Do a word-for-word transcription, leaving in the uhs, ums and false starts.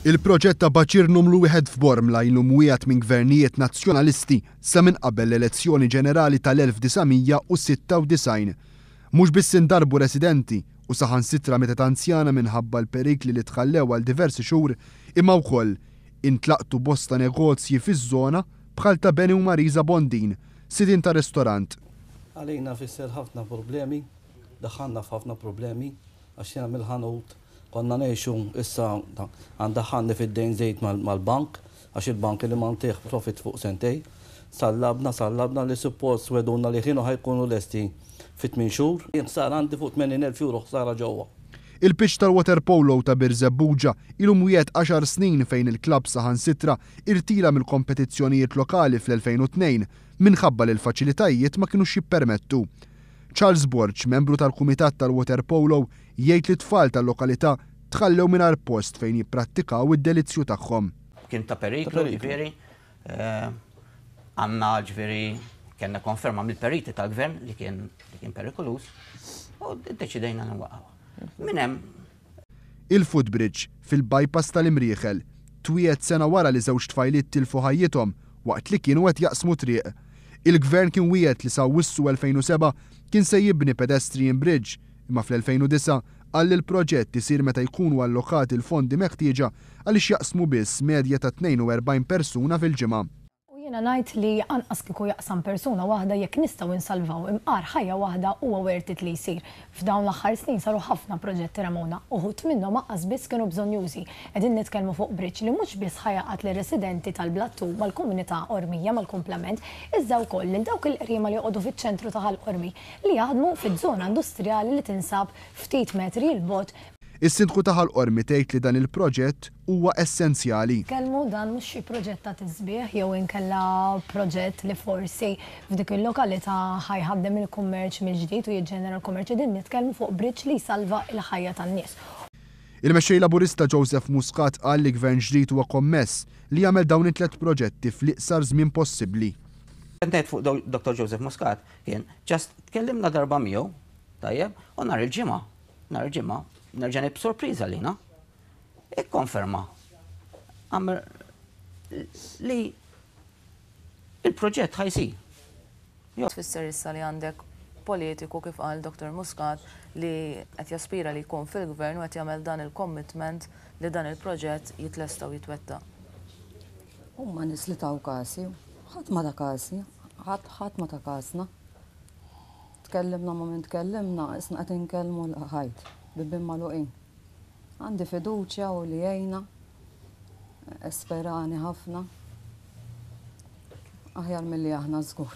Il-proġett ta' baċir numru wieħed f'Bormla ilu mwiegħed minn gvernijiet nazzjonalisti sa minn qabel l-elezzjoni ġenerali tal-elf disa' mija u sitta u disgħin. Mhux biss indarbu residenti u saħansitra mietet anzjana minħabba l-perikli li tħallew għal diversi xhur, imma wkoll intlaqtu bosta negozji fiż-żona bħal ta' Benny u Marisa Bondin, sidien ta' restorant. Għalina fisser ħafna problemi, daħħalna f'ħafna problemi, għax jiena mill-ħanut konna ngħixu, issa għandaħħalni fid-dejn żejt mal-, mal-bank, għax il-bank li mantih profit fuq sentej. Sallabna, sallabna li suppost weduna li kienu ħajkunu lesti fit tmien xhur. Jien ħsara għandi fuq tmenin elf euro ħsara ġewwa. Il-pitch tal-waterpolo ta' Birżebbuġa ilu mwiegħed għaxar snin fejn il-klabb saħansitra irtira mill-kompetizzjonijiet lokali fl-elfejn u tnejn minħabba li l-faċilitajiet ma kinux jippermettu. Charles Borg, membru tal-Kumitat tal-Waterpolo, jgħid li t-tfal tal-lokalità tħallew mingħajr post fejn jipprattikaw id-delizzju tagħhom. Kien ta' periklu, Ta' periklu. ġifieri, eh, għandna ġifieri kellna konferma mill-periti tal-gvern li kien, li kien perikolus u ddeċidejna nwaqgħu. Minn hemm Il-footbridge fil-bypass tal-Imrieħel twiegħed sena wara li żewġ tfajliet tilfu ħajjithom waqt li kienu qed jaqsmu triq. Il-gvern kien wiegħed li sa Awwissu elfejn u seba' kien se jibni pedestrian bridge, imma fl-elfejn u disa' qal li l-proġett isir meta jkunu allokati l-fondi meħtieġa għaliex jaqsmu biss medja ta' tnejn u erbgħin persuna fil-ġimgħa. U jiena ngħid li anqas kieku jaqsam persuna waħda jekk nistgħu insalvaw imqar ħajja waħda huwa worth it li jsir. F'dawn l-aħħar snin saru ħafna proġetti Ramona, uħud minnhom anqas biss kienu bżonnjużi. Qegħdin nitkellmu fuq bridge li mhux biss ħajaqat lir-residenti tal-Blattu mal-komunità Qormija mal-kumplament, iżda wkoll lil dawk il-qriema li joqogħdu fiċ-ċentru ta' Ħal Qormi li jaħdmu fiż-żona industrijali li tinsab ftit metri 'l bogħod. Is-sindku ta' Ħal Qormi tgħid li dan il-proġett huwa essenzjali. Kelmu dan mhux xi proġett ta' tisbieħ jew inkella proġett li forsi f'dik il-lokalità ħajħaddem il-kummerċ mill-ġdid u jiġġenera l-kummerċ, qegħdin nitkellmu fuq bridge li jsalva l-ħajja tan-nies. Il-mexxej Laburista Joseph Muscat qal li gvern ġdid huwa kommess li jagħmel dawn it-tliet proġetti fl-iqsar żmien possibbli. Ngħid fuq Do-, Doktor Joseph Muscat kien just tkellimna darba miegħu, tajjeb, u nhar il-ġimgħa, nhar il-ġimgħa nerġa' nib sorpriża lina. Ikkonferma għamr li il-proġett ħajsir. Jo. Tfisser issa li għandek politiku kif qal Doktor Muscat li qed jaspira li jkun fil-gvern u qed jagħmel dan il-commitment li dan il-proġett jitlesta u jitwettaq. Huma nies li taw kasi, ħadd ma ta' kasi, ħadd ħadd ma ta' kasna. Tkellimna ma minn tkellimna, isna qed inkellmu l-ħajt, bibien magħluqin. Għandi fiduċja u li jgħinna, esperani ħafna. Aħjar milli aħna żgur.